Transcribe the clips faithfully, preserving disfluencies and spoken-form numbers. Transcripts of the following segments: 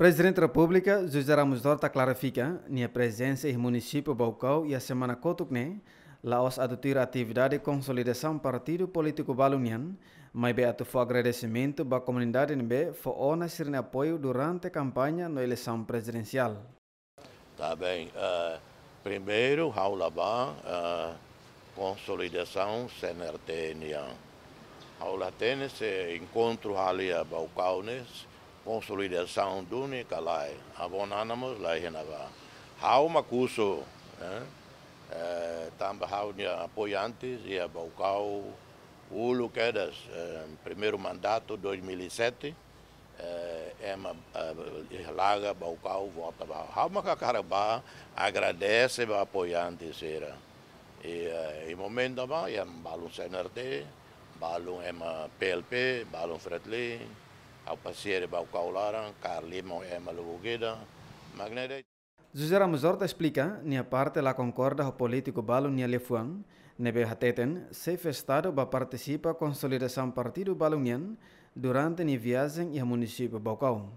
Prezidente Repúblika, José Ramos Horta klarifika, nia prezensa iha munisípiu Baucau iha semana kotuk ne'e, la'ós atu tuir atividade konsolidasaun partidu polítiku balun nian, maibé atu fó agradesimentu ba komunidade ne'ebé fó ona sira-nia apoiu durante kampaña no eleisaun prezidensiál. Tá bem, eh, primeiru, ha'u la bá, eh, konsolidasaun C N R T nian. Ha'u la hatene se enkontru halo iha Baucau ne'e, konsolidasaun duni ka lae. Avó Nana mós la iha ne'ebá. Ha'u mak husu, eh, eh, tanba ha'u-nia apoiantes iha Baucau, uluk kedas, eh, primeiru mandatu, dois mil e sete, eh, ema, eh, iha Laga, Baucau, vota ba. Ha'u mak hakarak bá agradese ba apoiante sira. I, eh, iha momentu ne'ebá, iha balun C N R T, balun ema P L P, balun Fretilin, ha'u pasiar iha Baucau laran, kaer liman ema lubuk ida, mak ne'e de'it. José Ramos Horta esplika, nia parte la konkorda ho polítiku balun nia liafuan, ne'ebé hateten, xefe Estadu bá partisipa konsolidasaun partidu balun nian durante nia viajen iha munisípiu Baucau.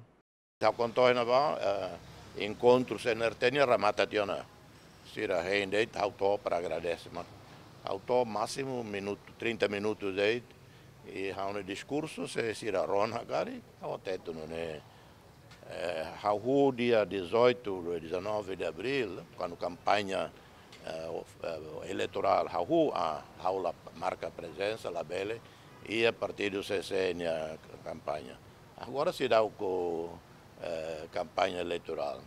Ha'u konta ona ba, eh, enkontru C N R T nian remata tiha ona. Sira hein de'it, ha'u to'o para agradese, mas ha'u to'o másimu minutu, trinta minutus de'it, i ha'u-nia diskursu, se sira rona karik, ha'u hatete nune'e. Eh, ha'u hahú dia dezoito, dia dezanove de abril, kuandu kampaña, eh, of-, eh, eleitorál, ha'u hahú, ah, ha'u la marka prezensa, labele, iha partidu C C nia kampaña. Agora seidauk, eh, kampaña eleitorál.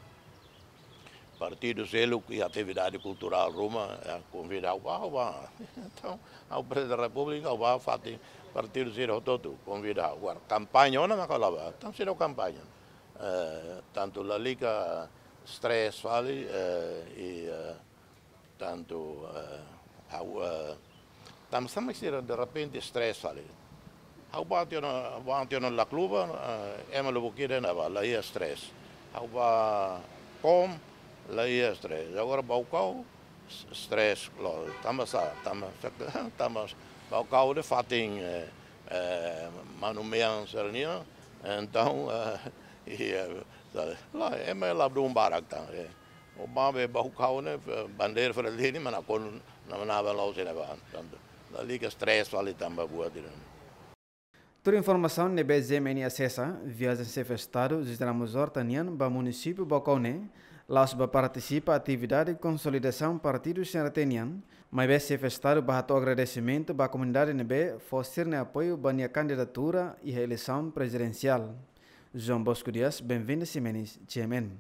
Partidu seluk iha atividade kulturál ruma, eh, konvida ha'u bá, ha'u bá. Entaun, ha'u Prezidente Repúblika, ha'u bá fatin partidu sira hotu-hotu, konvida ha'u. Agora, kampaña ona mak ha'u la bá, entaun seidauk kampaña. Eh, tantu lalika stress fali, eh, i, eh, tantu, eh, ha'u, eh, tanba sá mak sira derrepente stress fali. Ha'u bá tiha ona, bá tiha ona Lacluba, eh, ema lubuk ida ne'ebá, la iha stress. Ha'u bá Kom, la iha stress. Agora Baucau, s-, stress, lo, tanba sá, tanba, tanba Baucau ne'e fatin, eh, eh, manu-mean sira-nian, entaun, eh, i, eh, sabe, la, ema ladún barak tan, eh. O bá be Baucau ne'e, eh, bandeira Fretilin, mas nakonu, na, na, ba lau sene ba, tantu. Lalika stress fali tanba buat ida. Tuir informasaun ne'ebé G M N asesa, viajen xefe Estadu José Ramos Horta nian ba munisípiu Baucau ne'e, la'ós bá partisipa atividade konsolidasaun partidu C N R T nian, maibé xefe Estadu bá hato'o agradesimentu ba komunidade ne'ebé fó sira-nia apoiu ba nia kandidatura iha eleisaun prezidensiál. João Bosco Dias, Benvinda Ximenes, G M N.